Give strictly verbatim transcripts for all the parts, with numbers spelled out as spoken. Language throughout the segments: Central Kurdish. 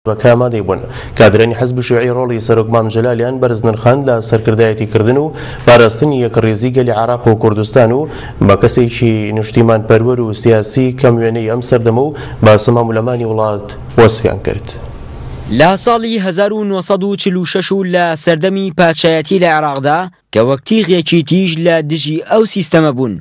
حزبەکە ئامادەی بوون. کادرانی حزب شیوعی ڕۆڵی سەرۆک مام جەلالیان بەرز نرخاند لە سەرکردایەتیکردن و پاراستنی یەکڕیزی گەلی عێراق و کوردستان و بە کەسێکی نیشتیمان پەروەر و سیاسی کەم وێنەی ئەم سەردەمە و بە سەمام و وڵات وەسفیان کرد. لە ساڵی هەزار و نۆ سەد و چل و شەش و لە سەردەمی پادشایەتی لە عێراقدا کە وەک تیغێکی تیژ لە دژی ئەو سیستەمە بوون،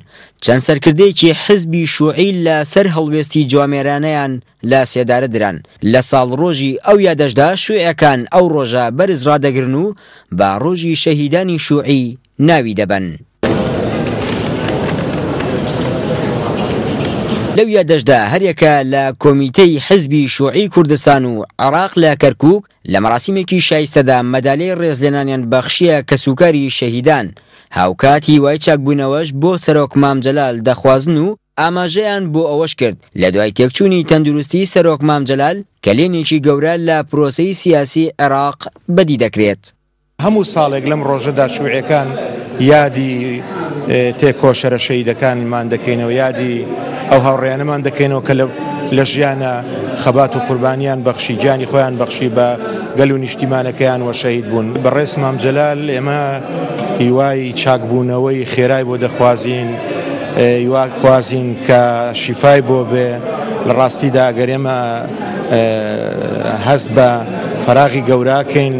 چەند سەرکردەیەکی حزبی شوعی لە سەر هەڵوێستی جوامێرانەیان لە سێدارە دران. لە ساڵ ڕۆژی ئەو یادەشدا شوعەکان ئەو ڕۆژە بەرز ڕادەگرن و بە ڕۆژی شەهیدانی شوعی ناوی دەبەن. لەو یادەشدا هەریەکە لە کۆمیتەی حزبی شوعی کوردستان و عێراق لە کەرکووک لە مەراسیمێکی شایستەدا مەدالیای ڕێزلێنانیان بەخشیە کەسوکاری شەهیدان، هاوکات هیوای چاکبوونەوەش بۆ سەرۆک مام جەلال دەخوازن و ئاماژەیان بۆ ئەوەش کرد لە دوای تێکچوونی تەندروستی سەرۆک مام جەلال کەلێنێکی گەورە لە پرۆسەی سیاسی عێراق بەدی دەکرێت. هەموو ساڵێک لەم ڕۆژەدا شوعیەکان یادی تێکۆشەرە شەهیدەکانمان دەکەینەوە، یادی ئەو هاوڕێیانەمان دەکەینەوە کە لە ژیانە خەبات و قوربانیان بەخشی، گیانی خۆیان بەخشی بە گەل و نیشتیمانەکەیان وە شەهید بوون. بەڕێز مام جەلال ئێمە هیوای چاکبوونەوەی خێرای بۆ دەخوازین، هیوا خوازین کە شیفای بۆ بێ. لە ڕاستیدا ئەگەر ئێمە هەست بە فەراغی گەوراکەین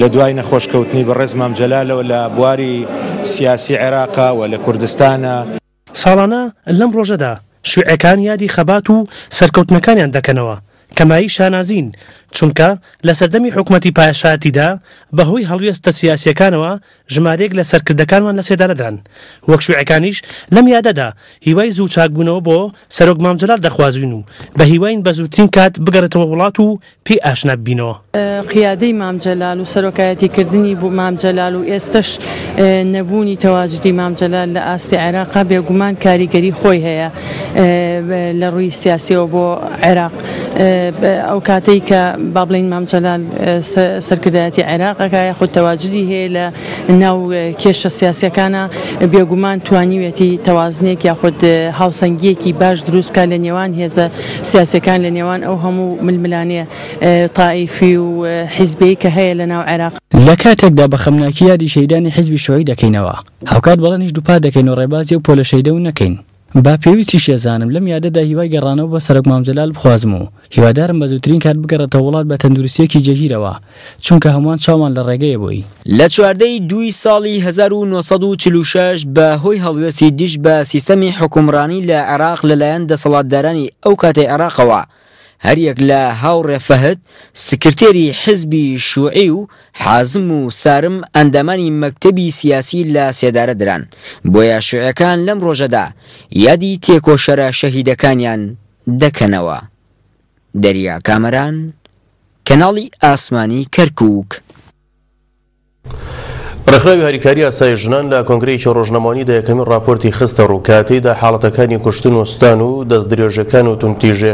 لە دوای نەخۆشکەوتنی بەڕێز مام جەلالەوە لە بواری سیاسی عێراقا و لە کوردستانە. ساڵانە لەم ڕۆژەدا شوعەکان یادی خەبات و سەرکەوتنەکانیان دەکەنەوە کەمایی شانازین، چونکە لە سەردەمی حکوومەتی پاشایەتیدا بەهۆی هەڵوێستە سیاسیەکانەوە ژمارەیەک لە سەرکردەکانمان لە سێدارەدران. وەک شوعەکانیش لەم یادەدا هیوای زوو چاکبوونەوە بۆ سەرۆک مام جەلال دەخوازین و بە هیواین بە زووترین کات بگەڕێتەوە وڵات و پێی ئاشنا ببینەوە. قیادەی مام جەلال و سەرۆکایەتیکردنی بۆ مام جەلال و ئێستش نەبوونی تەواجدی مام جەلال لە ئاستی عێراقا بێگومان کاریگەری خۆی هەیە لە ڕووی سیاسیەوە بۆ عێراق. ئەو کاتەی کە با بڵێین مام جەلال سەرکردایەتی عێراقەکە یاخود تەواجدی هەیە لە ناو کێشە سیاسیەکانە، بێگومان توانیوێتی تەوازنێک یاخود هاوسەنگیەکی باش دروست بکات لە نێوان هێزە سیاسیەکان، لە نێوان ئەو هەموو ململانێ تائیفی و حیزبەی کە هەیە لە ناو عێراق. لە کاتێکدا بە خەمناکی یادی شەهیدانی حیزبی شوعی دەکەینەوە، هاوکات بەڵێنیش دووپات دەکەین و ڕێبازی و پۆلە شەهیدە و نەکەین. با پێویستی شێزانم لەم یادەدا هیوای گەڕانەوە بە سەرۆک مام جەلال بخوازم و هیوادارم بە زووترین کات بگەڕێتەوە وڵات بە تەندروستیەکی جێگیرەوە، چونکە هەمووان چاومان لە ڕێگەیە بووی. لە چواردەی دووی ساڵی هەزار و نۆ سەد و چل و شەش بە هۆی هەڵوێستی دژ بە سیستەمی حکومڕانی لە عێراق لەلایەن دەسەڵاتدارانی ئەو کاتەی عێراقەوە، هەریەک لە هاوڕێ فەهد سکرتێری حزبی شوعی و حازم و سارم ئەندامانی مەکتەبی سیاسی لە سێدارە دران. بۆیە شوعەکان لەم ڕۆژەدا یادی تێکۆشەرە شەهیدەکانیان دەکەنەوە. دەریا کامەران، کەناڵی ئاسمانی کەرکووک. ڕێکخراوی هاریکاری ئاسای ژنان لە کۆنگرەیەکی ڕۆژنامەوانیدا یەکەمین ڕاپۆرتی خستە ڕوو کە تێیدا حاڵەتەکانی کوشتن و سوتان و دەستدرێژەکان و توندتیژێ